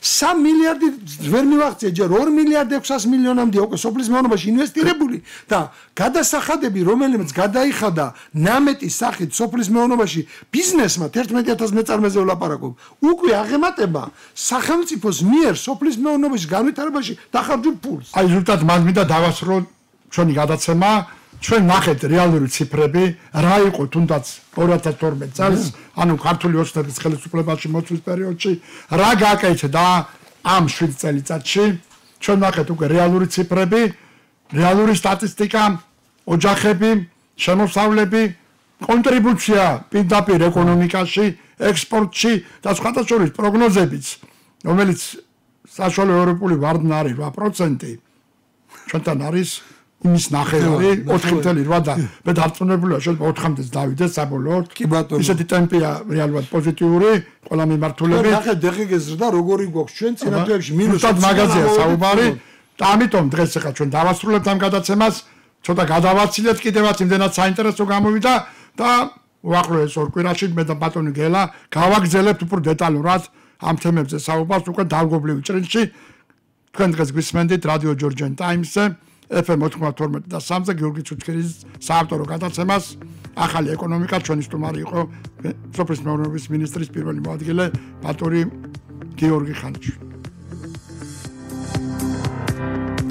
3 მილიარდი ვერ მივაღწია, ჯერ 2 მილიარდი 600 მილიონამდე უკვე სოფლის მეურნეობაში ინვესტირებული და გადასახადები, რომელიც გადაიხადა ნამეტის სახით სოფლის მეურნეობაში ბიზნესმა 11,000 მეწარმეზე ვლაპარაკობ. უკვე აღემატება სახელმწიფოს მიერ სოფლის მეურნეობის განვითარებაში დახარჯულ ფულს. აი ზუსტად მან მინდა დავასრულო ჩვენი გადაცემა. ჩვენ ნახეთ რეალური ციფრები, რა იყო თუნდაც 2012 წელს, ანუ ქართული ოცნების ხელისუფლებაში მოწვის პერიოდში, რა გააკეთდა ამ 7 წელიწადში. ჩვენ ნახეთ უკვე რეალური ციფრები, რეალური სტატისტიკა, ოჯახები, შემოსავლები, კონტრიბუცია პირდაპირ ეკონომიკაში, ექსპორტში და სხვათა შორის პროგნოზებიც, რომელიც საშუალო ევროპული ვარდნა არის 8%, ჩვენთან არის იმის ნახევარი 4.8 და მე დარწმუნებულია შეიძლება 4-მდეც დავიდეს საბოლოოდ. კი ბატონო. ისეთი ტემპია რეალურად პოზიტიური, ყველა მიმართულებით. ნახეთ დღეგეს ზრდა როგორი გვაქვს ჩვენ წინა თვეებში მინუს მაგაზია საუბარი და ამიტომ დღეს ახლა ჩვენ დავასრულებთ ამ გადაცემას, ცოტა გადავაცილეთ კიდევაც იმდენად საინტერესო გამოვიდა და უახლოეს ორ კვირაში მე და ბატონი გელა გავაგზავნებთ უფრო დეტალურად ამ თემებზე საუბარს უკვე დავგობლივ ჭრილში. თქვენ დღეს გვისმენდით რადიო ჯორჯიან ტაიმსზე FM 92 და 3-ზე გიორგი ცუცქერის საავტორო გადაცემას. ახალი ეკონომიკა ჩვენი სტუმარი იყო სოფლის მეურნეობის მინისტრის პირველი მოადგილე ბატონი გიორგი ხანიშვილი.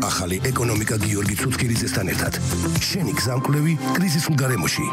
ახალი ეკონომიკა გიორგი ცუცქერისთან ერთად. შენი გზამკვლევი კრიზისულ გარემოში.